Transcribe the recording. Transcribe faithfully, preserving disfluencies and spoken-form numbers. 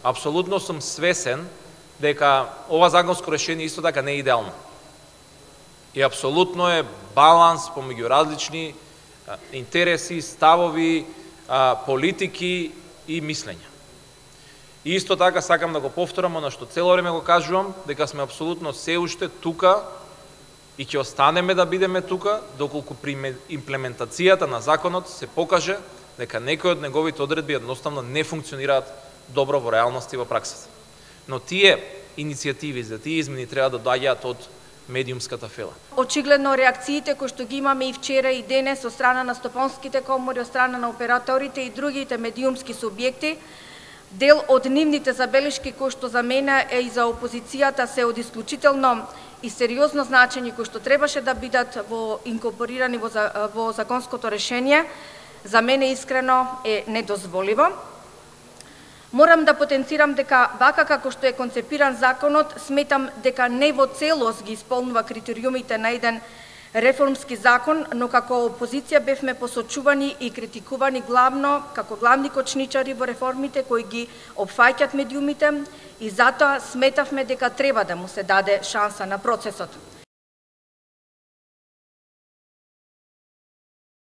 Апсолутно сум свесен дека ова законско решение исто така не е идеално. И апсолутно е баланс помеѓу различни интереси, ставови, политики и мислења. И исто така сакам да го повторам она што цело време го кажувам, дека сме апсолутно се уште тука и ќе останеме да бидеме тука доколку при имплементацијата на законот се покаже дека некои од неговите одредби едноставно не функционираат добро во реалност и во праксата. Но тие иницијативи за тие измени треба да доаѓаат од медиумската фела. Очигледно реакциите кои што ги имаме и вчера и денес од страна на стопанските комори, од страна на операторите и другите медиумски субјекти, дел од нивните забелешки кои што за мене е и за опозицијата се од исклучително и сериозно значење кои што требаше да бидат во инкорпорирани во, во законското решение, за мене искрено е недозволиво. Морам да потенцирам дека вака како што е концепиран законот, сметам дека не во целост ги исполнува критериумите на еден реформски закон, но како опозиција бевме посочувани и критикувани главно како главни кочничари во реформите кои ги опфаќаат медиумите и затоа сметавме дека треба да му се даде шанса на процесот.